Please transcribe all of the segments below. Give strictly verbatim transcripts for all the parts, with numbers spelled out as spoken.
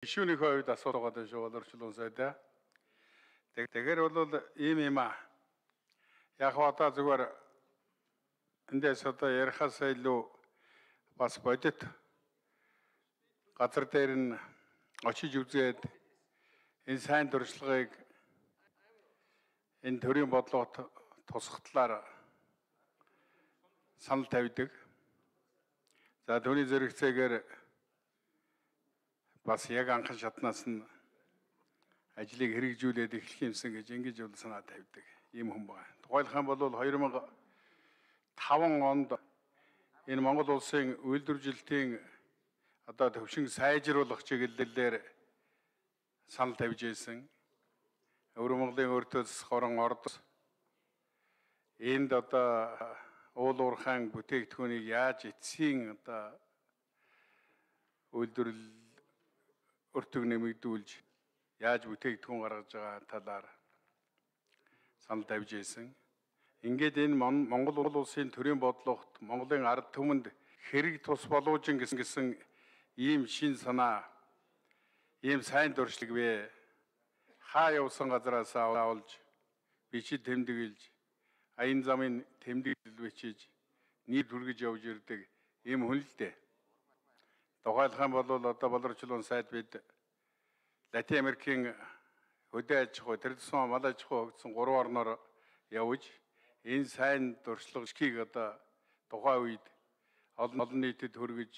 Гишүүнийхээ хувьд асуулт байгаа шүү боловсруулсан сайдаа. Тэгэхээр бол ийм юм аа. Яг одоо зүгээр эндээс одоо ярихаас илүү бас бодит газар дээр нь очиж үзээд энэ сайн дуршлагыг энэ төрийн бодлогот тусах талаар санал тавьдаг. За түүний зэрэгцээгээр бас яг анхан шатнаас нь ажлыг хэрэгжүүлээд эхлэх юмсан гэж ингэж бол санаа тавьдаг ийм хүн байна. Тухайлх юм бол хоёр мянга таван онд энэ Монгол улсын үйлдвэржилтийн одоо төвшин сайжруулах чиглэлээр санал тавьж ирсэн. Өвөр Монголын өртөөс хорон ордос энд одоо уул уурхайн бүтээгдэхүүнийг яаж эцсийн одоо үйлдвэрлэл өртөг нэмэгдүүлж яаж бүтээгдэхүүн гаргаж байгаа талаар санал тавьж ирсэн. Ингээд энэ Монгол улсын төрийн бодлогот Монголын ард түмэнд хэрэг тус болоожин гэсэн ийм шин санаа, ийм сайн дуршлаг вэ? Хаа явсан газараас авалж, бичид тэмдэглэж, аян замын тэмдэглэл бичиж, нийт хүргэж явж ирдэг ийм хүн л дээ. Тухайлх юм бол одоо боловсруулсан сайд бид Латин Америкийн хөдөө аж ахуй, традицион мал аж ахуй хөгжсөн гурван орноор явж энэ сайн дуршлагыг одоо тухайн үед олон нийтэд хүргэж,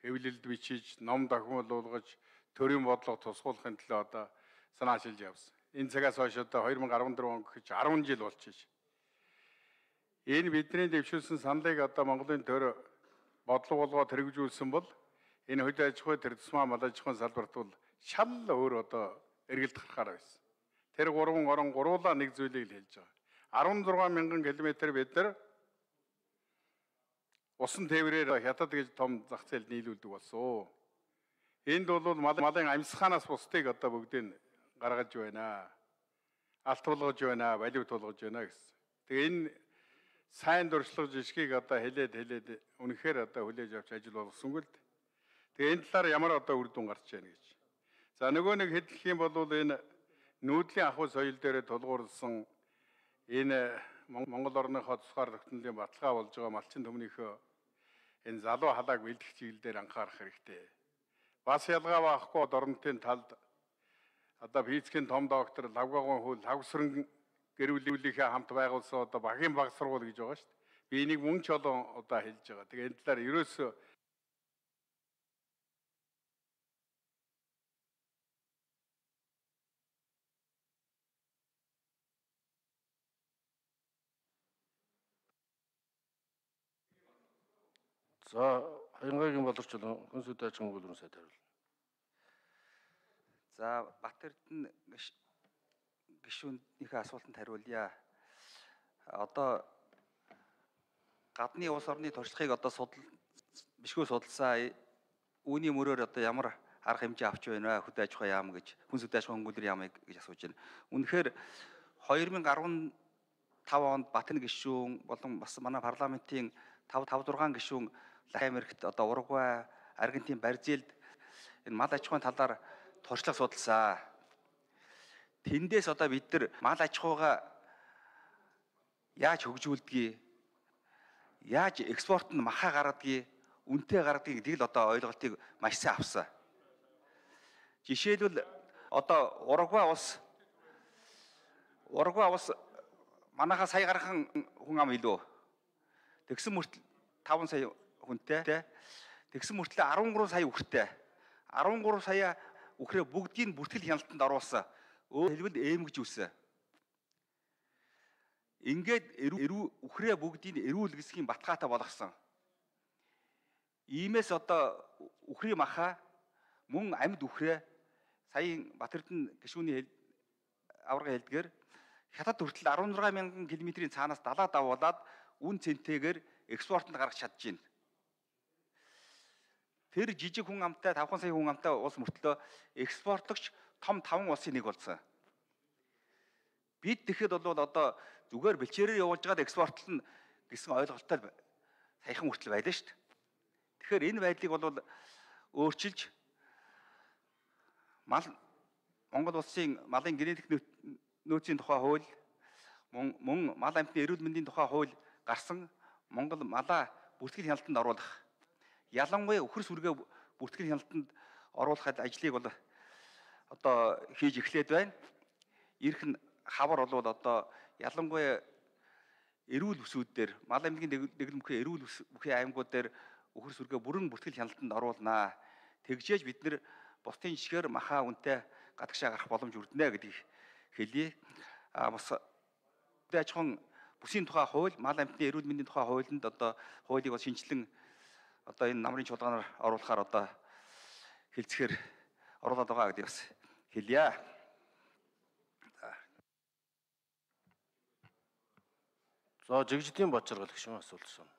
хэвлэлд бичиж, ном дохиомжуулгаж, төрийн бодлого тусгуулахын төлөө одоо санаачилж явсан. Энэ цагаас хойш одоо хоёр мянга арван дөрвөн он гэж арван жил болчихж. Энэ бидний дэвшүүлсэн саналыг одоо Монголын төр бодлого болгоод хэрэгжүүлсэн бол энэ хөдөө аж ахуй, традицион мал аж ахуйн салбарт бол шал өөр одоо эргэлт гарахаар байсан. Тэр гурван орон гуруулаа нэг зүйлийг л хэлж байгаа. арван зургаан мянган километр бид нар усан тээврээр хятад гэж том зах зээл нийлүүлдэг болсон. Энд бол малын амьсгаанаас бусдыг одоо бүгдийг гаргаж байна. Алт тулгаж байна, балив тулгаж байна гэсэн. Тэгээ энэ сайн дуршлаг жишгийг одоо хэлээд хэлээд үнэхээр одоо хүлээж авч ажил болгосонгүй л дээ. Тэгээ энэ талаар ямар одоо үр дүн гарч байна гэж. За нөгөө нэг хэлэх юм бол энэ нүүдлийн ахуй соёл дээр тулгуурласан энэ Монгол орныхоо тусгаар тогтнолын баталгаа болж байгаа малчин төмнийхөө энэ залуу халааг бэлдэх чиглэлээр анхаарах хэрэгтэй. Бас ялгаа байхгүй орнотын талд одоо физикийн том доктор Лавгагын хөл Лавсран гэр бүлийнхээ хамт байгуулсан одоо багийн баг сургууль гэж байгаа шүү дээ. Би энийг мөн ч олон удаа хэлж байгаа. Тэгээ энэ талаар ерөөсөө За, Хаянгагийн боловсруулсан хүнс үдэ аж ахуйн гүйлрэн сайд хариулна. За, Бат Эрдэнэ гишүүнийхээ асуултанд хариулъя. Одоо гадны улс орны туршлагыг одоо судал бишгүй судалсан үүний мөрөөр одоо ямар арга хэмжээ авч байна вэ? Хөдөө аж ахуй яам гэж, хүнс үдэ аж ахуйн гүйлрэн яамыг гэж асууж байна. Үнэхээр хоёр мянга арван тав онд Батны гишүүн болон бас манай парламентын тав тав зургаан гишүүн Латин Америкт одоо Уругвай, Аргентин, Бразилд энэ мал аж ахуйн талаар туршлага судалсан. Тэндээс одоо бид нар мал аж ахуйгаа яаж хөгжүүлдгийг, яаж экспорт нь махаа гаргадгийг, үнэтэй гаргадгийг гэдгийг л одоо ойлголтыг маш сайн авсан. Жишээлбэл одоо Уругвай улс Уругвай улс манайхаа сая гархан хүн ам илүү. Тэгсэн мөртөл таван сая хүнтэй. Тэгсэн мөртлөө арван гурван сая үхртэй. арван гурван сая үхрээ бүгдийг бүртгэл хяналтанд оруулсан. Өөр хэлбэл ээмгэж үсэн. Ингээд үхрээ бүгдийг эрүүл гэсгийн батгаатай болгосон. Иймээс одоо үхрийн маха мөн амьд үхрээ саяын Бат Эрдэнэ гишүүний аварга хэлдгээр хятад хүртэл арван зургаан мянган километрийн цаанаас далаа давуулаад үн цэнтэйгээр экспортод гаргаж чадчихээн. Тэр жижиг хүн амтай тавхан сая хүн амтай улс мөртлөө экспортлогч том таван улсын нэг болсон. Бид тэгэхэд бол одоо зүгээр бэлчээрээр явуулж байгаад экспортлно гэсэн ойлголттой саяхан хүртэл байлаа шүү дээ. Тэгэхээр энэ байдлыг бол өөрчилж мал Монгол улсын малын генетик нөөцийн тухай хууль, мөн мал амьтны эрүүл мэндийн тухай хууль гарсан Монгол малаа бүртгэл хяналтанд оруулах. Ялангуяа үхэр сүргээ бүртгэл хяналтанд оруулах ажлыг бол одоо хийж эхлээд байна. Ирэх нь хавар болвол одоо ялангуяа эрүүл бүсүүд дээр мал аймгийн дэглэм бүхий эрүүл бүхий аймагуд дээр үхэр сүргээ бүрэн бүртгэл хяналтанд оруулнаа. Тэгжээж бид нэр бусдын жишгээр махаа үнэтэй гадагшаа гарах боломж өрдөнэ гэдгийг хэлье. А бас аж ахуйн бүсийн тухай хууль, мал амьтны эрүүл мэндийн тухай хуулинд одоо хуулийг бас шинжилэн одоо энэ намрын чуулганаар оруулахаар одоо хэлцгээр оруулаад байгаа гэдгийг бас хэлье. За жигжидийн Бочоргол гişүн асуулт шин.